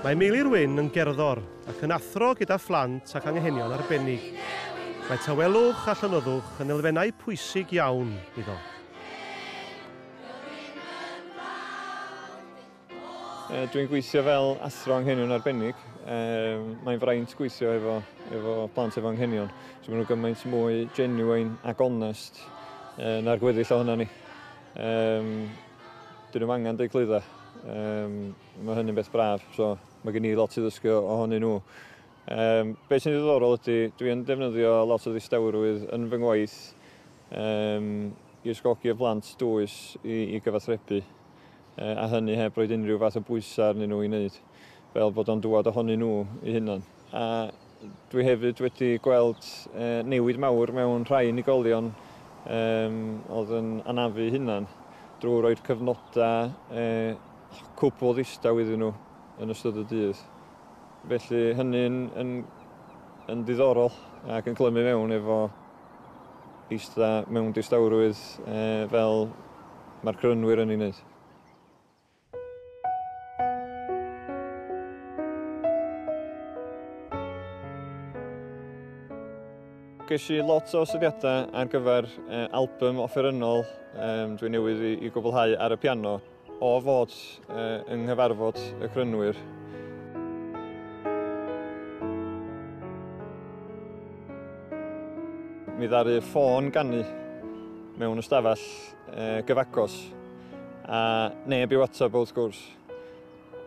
Mae Meilir Wyn yn gerddor ac yn athro gyda phlant ac anghenion arbennig. Mae tawelwch a llonyddwch yn elfennau pwysig iawn iddo. Dwi'n gweithio fel athro anghenion arbennig. Mae'n fraint gweithio efo plant efo anghenion. So maen nhw gymaint mwy genuine ac onest na'r gweddill ohono ni. Dyn nhw'm angen deud clwydda. Mae hynny'n beth braf, so mae gen i lot i ddysgu ohonyn nhw. Be sy'n ddiddorol ydy, dwi yn defnyddio lot o ddistawrwydd yn fy ngwaith i ysgogi y plant dwys i gyfathrebu, a hynny heb roed unrhyw fath o bwysau arnyn nhw i wneud, fel bod o'n dŵad ohonyn nhw eu hunan. A dwi hefyd wedi gweld newid mawr mewn rhai unigolion oedd yn anafu eu hunan drwy roi'r cyfnodau cwbl ddistaw iddyn nhw yn ystod y dydd. Felly hynny'n yn ddiddorol ac yn clymu mewn efo eista mewn distawrwydd fel mae'r Crynwyr yn ei wneud. Ges i lot o syniadau ar gyfer album offerynnol dwi newydd i gwblhau ar y piano o fod yng nghyfarfod y Crynwyr. Mi ddaru ffôn ganu mewn ystafell gyfagos a neb i'w atab wrth gwrs.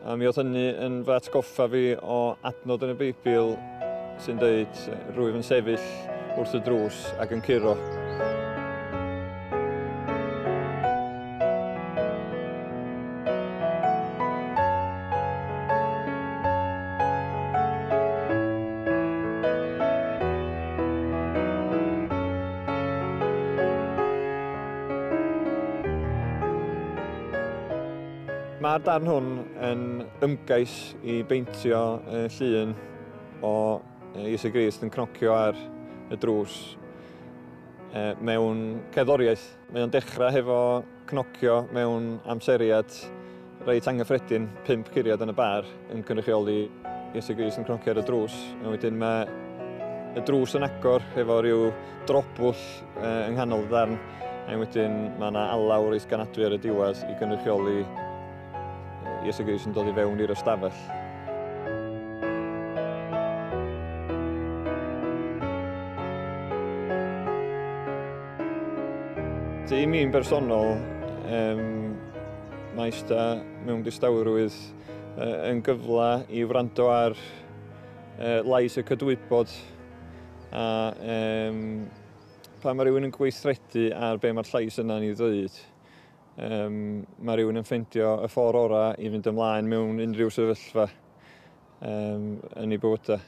A mi oedd hynny yn fy atgoffa fi o adnod yn y Beibl sy'n dweud rwyf yn sefyll wrth y drws ac yn curo. Mae'r darn hwn yn ymgais i beintio llun o Iesu Grist yn cnocio ar y drws mewn cerddoriaeth. Mae o'n dechrau hefo cnocio mewn amseriad reit anghyffredin, 5 curiad yn y bar, yn cynrychioli Iesu Grist yn cnocio ar y drws. A wedyn mae y drws yn agor efo rhyw drobwll yng nghanol y darn, a wedyn mae yna alaw reit ganadwy ar y diwedd i gynrychioli Iesu Grist yn dod i fewn i'r ystafell. I mi'n bersonol, mae eista mewn distawrwydd yn gyfle i wrando ar lais y cydwybod a pan mae rhywun yn gweithredu ar be mae'r llais yna'n ei ddweud, mae rhywun yn ffeindio y ffordd orau i fynd ymlaen mewn unrhyw sefyllfa yn ei bywydau.